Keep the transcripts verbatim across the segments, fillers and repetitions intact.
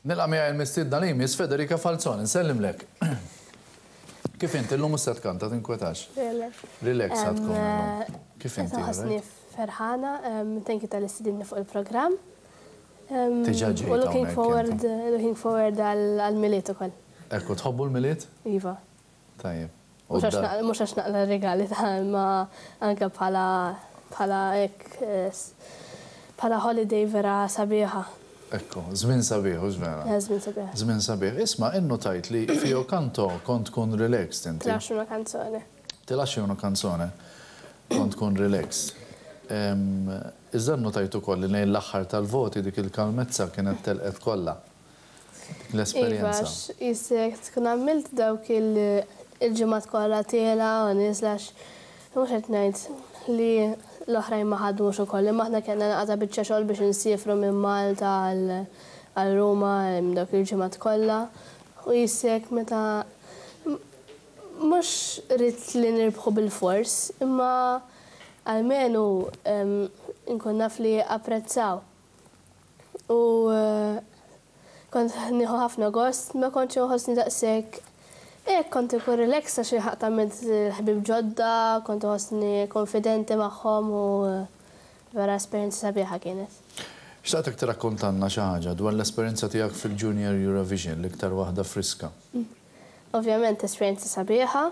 Nilqa' miegħi l-mistiedna li jmiss, Federica Falzon, nsellimlek. Kif inti llum? Se tkanta, tinkwetax? Relax ħa tkun illum. Kif inti? Ħossni ferħana, thank you talli stedintni fuq il-programm. Diġà ġejt U looking hawnhekk forward, inti. Looking forward għal-Milied ukoll. Ekku, tħobbu l-Milied? Iva. Tajjeb. U Mhux għax da- naqla- mhux għax naqla regali ta' ma anke bħala bħala hekk eh, s- bħala holiday vera sabiħa. Ekku, żmien sabiħ, hux vera? Eh, żmien sabiħ. Żmien sabiħ. Isma', innotajt li fi Io Canto kont tkun relaxed inti. Ti lascio una canzone. Ti lascio una canzone. Kont tkun relaxed. Em, Iżda notajt ukoll li lejn l-aħħar tal-voti dik il-kalmezza kienet telqet kollha. Dik Iva, l-esperjenza. għax jisek tkun għamilt dawk il- il-ġimgħat kollha tiela u nieżla, mhux qed ngħid li l-oħrajn ma ħadmux ukoll, imma aħna kellna naqata biċċa xogħol biex insifru minn Malta għal għal Ruma em, dawk il-ġimgħat kollha. U jisek meta m- mhux ridt li nirbħu bil-fors, imma almenu em, nkun naf li apprezzaw. U eh, kont nieħu ħafna gost, ma kontx nħossni daqshekk. Ek, kont ikun relax għax ħadd għamilt ħbib ġodda, kont nħossni konfidenti magħhom u eh, vera esperjenza sabiħa kienet. Xtaqtek tirakkontanna xi ħaġa dwar l-esperjenza tiegħek fil-Junior Eurovision, l-iktar waħda friska. Ovvjament esperjenza sabiħa.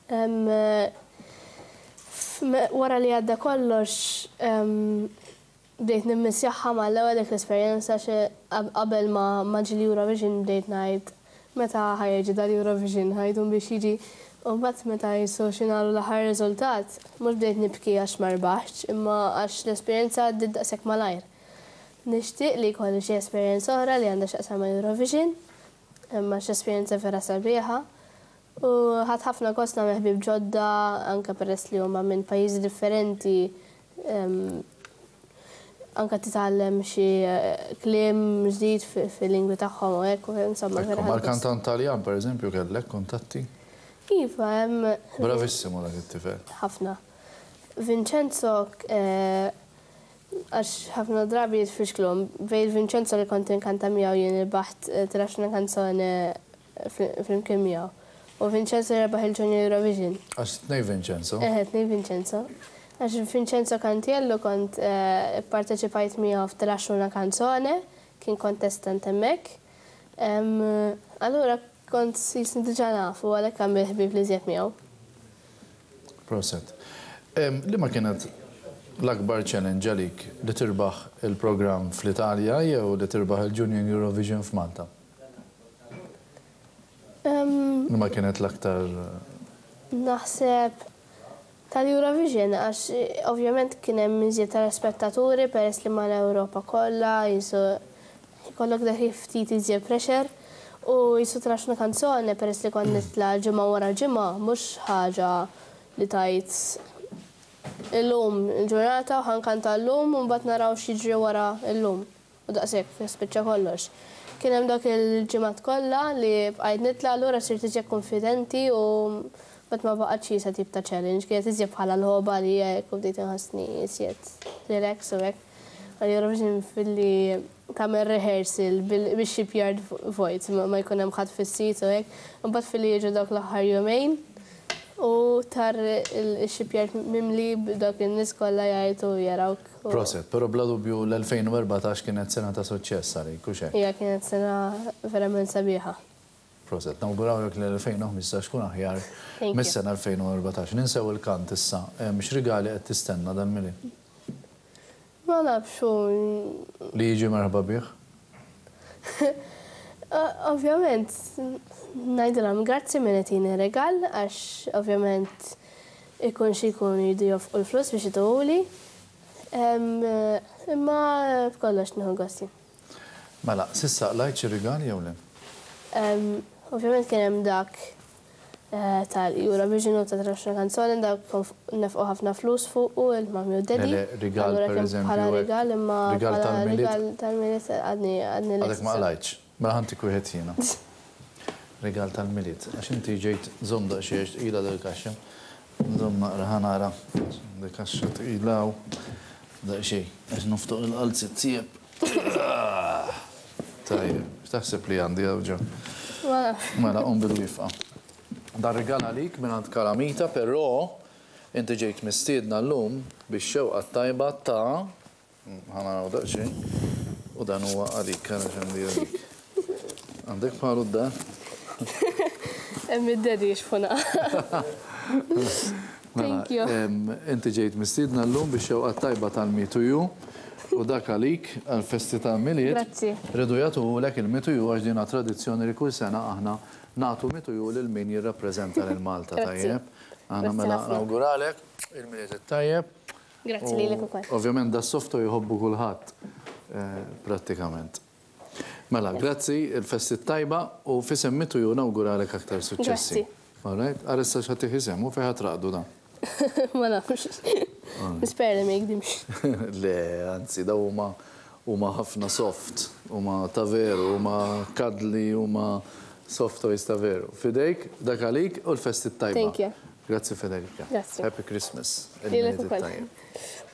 Em, eh, f- Wara li għadda kollox, em, bdejt nimmissjaha mal-ewwel dik l-esperjenza, xi qabel ma ma ġi l-Eurovision bdejt ngħid meta ħa jiġi dal-Eurovision, ħa jdum biex jiġi. U mbagħad meta jisu xinalu l-aħħar riżultat, mhux bdejt nibki għax ma rbaħtx, imma għax l-esperjenza għaddiet daqshekk malajr. Nixtieq li jkolli xi esperjenza oħra li għandha x'taqsam ma' Eurovision, imma x'esperjenza vera sabiħa. U ħadt ħafna gost nagħmel ħbieb ġodda, anke peress li huma minn pajjiżi differenti, em, anka titgħallem xi eh, kliem ġdid fi- fil-lingwi tagħhom u hekk, u insomma vera Ekku, ħadt gost. mal-kantant Taljan, per eżempju, kellek kuntatti? Iva, hemm Bravissimo dak it-tifel. Ħafna. Vincenzo, eh, għax ħafna drabi jitfixklhom, bejn Vincenzo li kont inkanta miegħu jien irbaħt eh, Ti lascio una canzone flimkien miegħu. U Vincenzo rebaħ il-Junior Eurovision. Għax tnej Vincenzo. Eħe, tnej Vincenzo. Għax Vincenzo Cantiello kont eh, parteċipajt miegħu f'Ti lascio una canzone, kien contestant hemmhekk. Em, Allura kont jisni diġà nafu, għalhekk għamil ħbib li żjed miegħu. Proset. Em, Li ma kienet l-akbar challenge għalik, li tirbaħ il-programm fl-Italja jew li tirbaħ il-Junior Eurovision f'Malta? Em, Li ma kienet l-aktar? Naħseb tal-Eurovision, għax eh, ovvjament kien hemm iżjed tal-spettaturi peress li mal-Ewropa kollha, jisu jkollok dak ftit iżjed pressure u jisu Ti lascio una canzone, peress li kont nitla' ġimgħa wara ġimgħa, mhux ħaġa li tajt illum il-ġurnata u ħa nkanta llum u mbagħad naraw x'jiġri wara llum. U daqshekk spiċċa kollox. Kien hemm dak il-ġimgħat kollha li bqajt nitla', allura sirt iżjed konfidenti u mbagħad ma baqgħetx jisa tip ta' challenge, kienet iżjed bħala logħba li hekk u bdejt inħossni iżjed relax u hekk. Għal Eurovision filli tagħmel rehearsal bil-shipyard vojt, ma ma jkun hemm ħadd fis-sit u hekk. Imbagħad filli jiġu dawk l-aħħar jumejn u tara il-shipyard mimli b'dawk in-nies kollha jgħajtu jarawk. u- Proset, pero bla dubju l-elfejn u erbatax kienet sena ta' suċċess għalik, u xek. Hija, kienet sena verament sabiħa. Proset, nawgurawlek l-elfejn u ħmistax kun aħjar Thank you. mis-sena elfejn u erbatax. Ninsew il-kant issa, Em, x'rigali qed tistenna dal-Milied? Ma nafx u Li jiġi merħba bih? Ovvjament, ngħidilhom grazzi min qed regal, għax ovvjament ikun xi jkun jridu jonfqu l-flus biex ituhuli. Imma b'kollox nieħu gosti. Mela, s'issa qlajt xi rigali jew le? Em, Ovvjament kien hemm dak eh, tal-Eurovision u ta' Ti lascio una canzone, dak kon nefqu ħafna flus fuq u il-mami u daddy. Le, le, rigal, Allura per kien eżempju, bħala hekk. rigal, imma Rigal bħala tal-Milied? rigal tal-Milied għadni għadni Għadek ma lest. qlajtx. Mela ħa ntik wieħed jiena. Rigal tal-Milied. Għax inti ġejt żomm daqsxejn tqila dil-kaxxa. Żomm naqra, ħa nara. Dil-kaxxa tqila u daqsxejn. Għax noftoq il-qalziet tiegħek. Tajjeb, X'taħseb li għandi hawn ġo? Ma nafx. Mela, qum bil-wieqfa. Dan rigal għalik minn Kalamita, però inti ġejt mistiedna llum bix-xewqa tajba ta' ħa naraw daqsxejn, u dan huwa għalik, għana x'għandi għalik. Għandek bħalu d-dar? Hemm id-daddy jixfuna. Thank you. Mela, inti ġejt mistiedna llum bix-xewqa tajba tal-Me to You u dak għalik għal-festi tal-Milied. Grazzi. Riedu jagħtuhulek il-Me to You għax dina tradizzjoni li kull sena aħna nagħtu Me to You lil min jirrappreżenta lil Malta, Grazzi. tajjeb. Aħna Grazzi mela ħafna. nawguralek il-Milied it-tajjeb. Grazzi U lilek ukoll. Ovvjament da soft toy jħobbu kulħadd eh, prattikament. Mela, grazzi, il-festi tajba u f'isem Me to You nawguralek aktar suċċessi. Grazzi. All right, għarissa x'ħa isem u fejn ħa traqdu dan. Ma nafx. Nispera li ma jikdimx. Le, anzi, daw huma huma ħafna soft, huma ta' veru, huma cuddly, huma soft toys ta' veru. Fidejk, dak għalik u l-festi tajba. Thank you. Grazzi, Federica. Grazzi. Happy Christmas. Lilek Il-Milied ukoll. it-tajjeb.